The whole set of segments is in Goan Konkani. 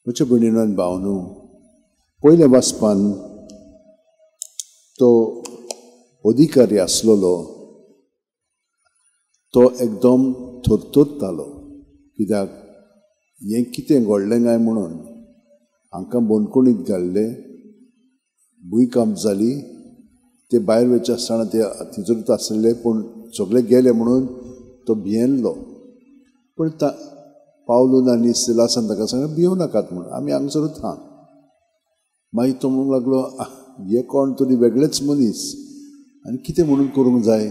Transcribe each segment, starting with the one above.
म्हज्या भयणीन भावनू, पयल्या वाचपान तो अधिकारी आसलेलो तो एकदम थरथरतालो, कित्याक हें कितें घडलें काय म्हणून. हांकां बंदखणीत घाल्ले, भुंयकांप जाली, ते भायर वयचे आसतना ते थंयसरूच आसले, पूण सगळे गेले म्हणून तो भियेल्लो. पूण पावलून आनी सिलासान ताका सांगलें भियोव नाकात म्हणून, आमी हांगसरूच आहा. मागीर तो म्हणूंक लागलो, हे कोण तरी वेगळेच मनीस आनी कितें म्हणून करूंक जाय,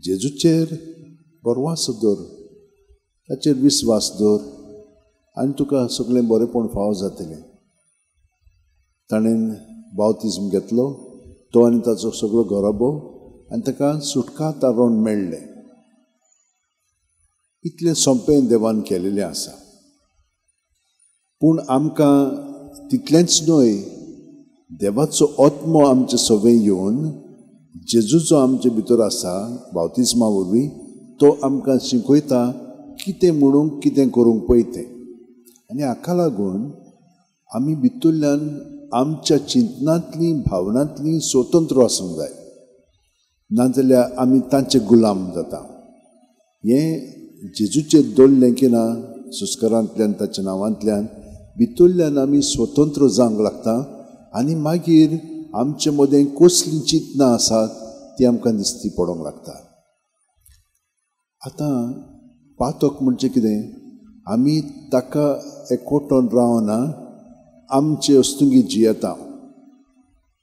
जेजूचेर भरवासो दवर, ताचेर विस्वास दवर आनी तुका सगळें बरेंपण फावो जातलें. ताणें बावतिज्म घेतलो, तो आनी ताचो सगळो घराबो, आनी ताका सुटका तारण मेळ्ळें. इतलें सोंपें देवान केलेलें आसा. पूण आमकां तितलेंच न्हय, देवाचो आत्मो आमचे सवे येवन जेजू जो आमचे भितर आसा बावतिज्मा वरवीं, तो आमकां शिकयता कितें म्हणूंक कितें करूंक पळय तें. आनी हाका लागून आमी भितरल्यान आमच्या चिंतनांतली भावनांतली स्वतंत्र आसूंक जाय, नाजाल्यार आमी तांचे गुलाम जाता. हें जेजूचेर दवरलें की ना संस्कारांतल्यान, ताच्या नांवांतल्यान भितरल्यान आमी स्वतंत्र जावंक लागता आनी मागीर आमचे मदें कसलीं चिंतनां आसात ती आमकां दिसती पडोंक लागता. आतां पातक म्हणजे कितें, आमी ताका एकवटून रावना, आमचे वस्तुंगी जियेता.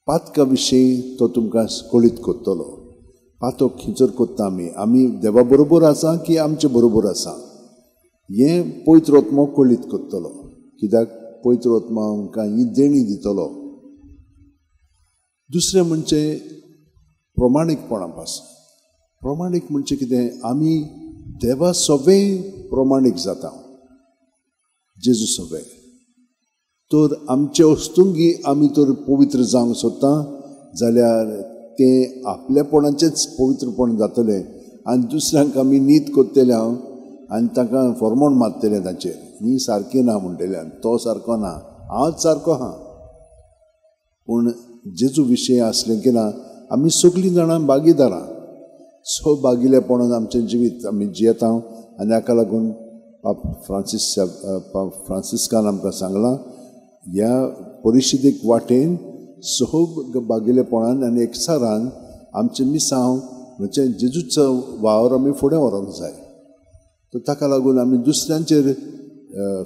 पातका विशीं तो तुमकां कळीत करतलो. पातक खंयसर करता आमी, आमी देवा बरोबर आसा की आमचे बरोबर आसा, हें पवित्र आत्मो कळीत करतलो. कित्याक पवित्र आत्मो आमकां ही देणी दितलो. दुसरें म्हणजे प्रमाणीकपणा पासून. प्रमाणीक म्हणजे कितें, आमी देवा सवे प्रमाणीक जाता, जेजू सवे. तर आमचे वस्तुंगी आमी तर पवित्र जावंक सोदता जाल्यार तें आपलेपणाचेंच पवित्रपण जातलें आनी दुसऱ्यांक आमी नीत करतले हांव आनी तांकां फॉर्मोण मारतलें तांचेर, ही सारकी ना म्हणटले, तो सारको ना, हांवच सारको आहा. पूण जेजू विशय आसलें की ना, आमी सगळीं जाणां भागीदारां, सो भागिलेपणान आमचें जिवीत आमी जियेता. आनी हाका लागून पाप फ्रांसीस पाप फ्रांसिस्कान आमकां सांगलां, ह्या परिशदेक वाटेन सहब भागिलेपणान आनी एकचारान आमचें मिसांव म्हणजे जेजूचो वावर आमी फुडें व्हरूंक जाय. तर ताका लागून आमी दुसऱ्यांचेर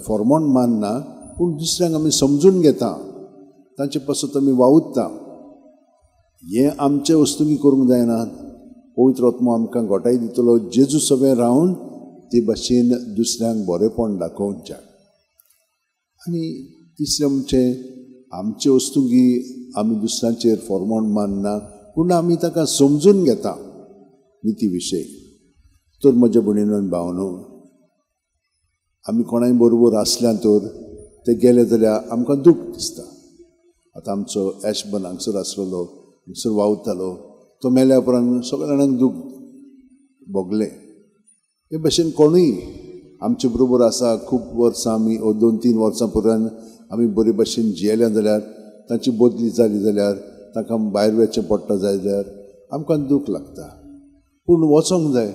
फॉर्मोण मानना, पूण दुसऱ्यांक आमी समजून घेता, तांचे पासत आमी वावुरता. हें आमचे वस्तुंगी करूंक जायना. पवित्र आत्मो आमकां घोटाय दितलो जेजू सवें रावन ते भाशेन दुसऱ्यांक बरेंपण दाखोवच्याक. आनी तिसरें म्हणजे आमचे वस्तुंगी आमी दुसऱ्यांचेर फॉर्मोण मानना, पूण आमी ताका समजून घेता निती विशय. तर म्हज्या भयणीन भावनो, आमी कोणाय बरोबर आसल्या तर ते गेले जाल्यार आमकां दूख दिसता. आतां आमचो एशबन हांगसर आसलेलो, हांगसर वावुरतालो, तो मेल्या उपरांत सगळ्या जाणांक दूख भोगलें. हे भाशेन कोणूय आमचे बरोबर आसा खूब वर्सां, आमी 2-3 वर्सां पुरान आमी बरे भाशेन जियेल्या जाल्यार, तांची बदली जाली जाल्यार, तांकां भायर वचचें पडटा जाय जाल्यार आमकां दूख लागता. पूण वचोंक जाय,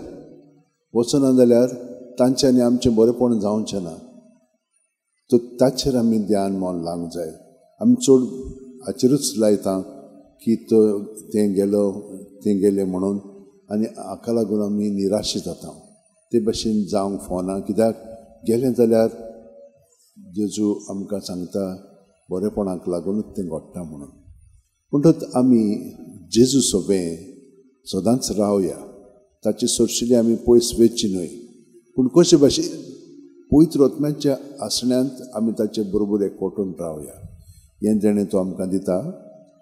वचना जाल्यार तांचें आनी आमचें बरेंपण जावचें ना. तर ताचेर आमी ध्यान मन लावंक जाय. आमी चड हाचेरूच लायता की तो तें गेलो तें गेलें म्हणून, आनी हाका लागून आमी निराश जाता. ते भाशेन जावंक फावना, कित्याक गेलें जाल्यार जेजू आमकां सांगता बरेपणाक लागूनच तें घडटा म्हणून. म्हणटच आमी जेजू सोबें सदांच रावया, ताचे सरशिल्ली आमी पयस वचची न्हय, पूण कशे भाशेन पवित्र आत्म्याच्या आसण्यांत आमी ताचे बरोबर एकवटून रावया. हें देणें तो आमकां दिता,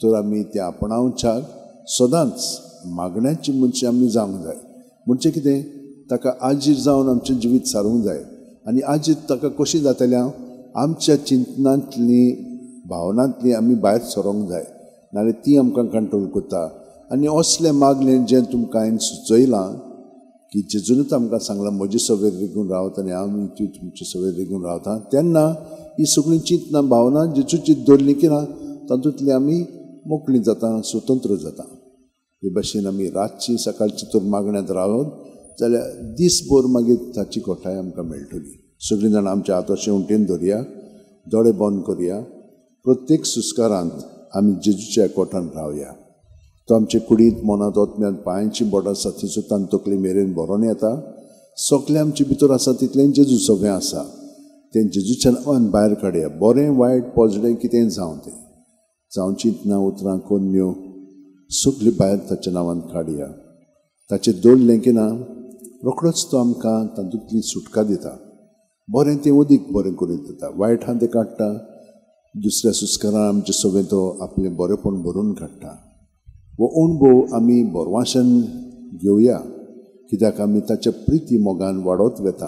तर आमी तें आपणावच्याक सदांच मागण्याची मनशां आमी जावंक जाय. म्हणजे कितें, ताका आजीर जावन आमचें जिवीत सारूंक जाय. आनी आजीर ताका कशी जातलें, आमच्या चिंतनांतली भावनांतली आमी भायर सरोंक जाय, नाजाल्यार ती आमकां कंट्रोल करता. आनी असलें मागलें जें तुमकां हांवें सुचयलां की जेजूनच आमकां सांगलां म्हजे सवेर रिगून रावता आनी हांव तुमचे सवेर रिगून रावता, तेन्ना ही सगळीं चिंतना भावना जेजूची दवरली की ना तातूंतली आमी मोकळी जाता, स्वतंत्र जाता. हे भाशेन आमी रातची सकाळची तर मागण्यांत रावत जाल्यार दीसभर मागीर ताची घटाय आमकां मेळटली. सगळीं जाणां आमच्या हात अशें उंटेन धरया, दोळे बंद करया. प्रत्येक सुस्कारांत आमी जेजूच्या कोटान रावया. तो आमचे कुडींत, मनांत, ओतम्यांत, पांयांची बोटां साथीचो तान तकली मेरेन भरोन येता. सगळें आमचे भितर आसा तितलें जेजू सगळें आसा तें जेजूच्या नांवान भायर काडया. बरें वायट पोजडें कितें जावं तें जावं चिंतना उतरां कोन्न्यो सगळीं भायर ताच्या नांवान काडया. ताचें दवरलें की ना रोखडोच तो आमकां तातूंतली सुटका दिता. बरें तें अदीक बरें करून दिता, वायट आहा तें काडटा. दुसऱ्या सुस्कारान आमचें सगळें तो आपलें बरेंपण भरून काडटा. हो अणभव आमी बरवाशान घेवया, कित्याक आमी ताच्या प्रिती मोगान वाडत वेता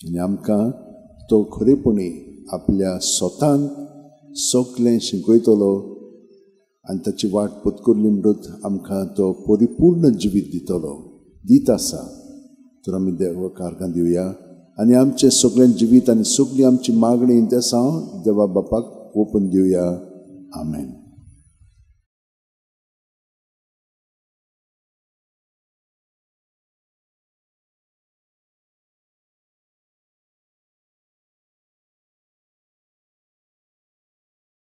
आनी आमकां तो खरेपणी आपल्या स्वतान सगळें शिकयतलो आनी ताची वाट पत्करली म्हणटच आमकां तो परिपूर्ण जिवीत दितलो, दीत आसा. तर आमी देवाक आर्गां दिवया आनी आमचें सगळें जिवीत आनी सगळी आमची मागणी तें देवा बापाक ओपून दिवया. आमेन.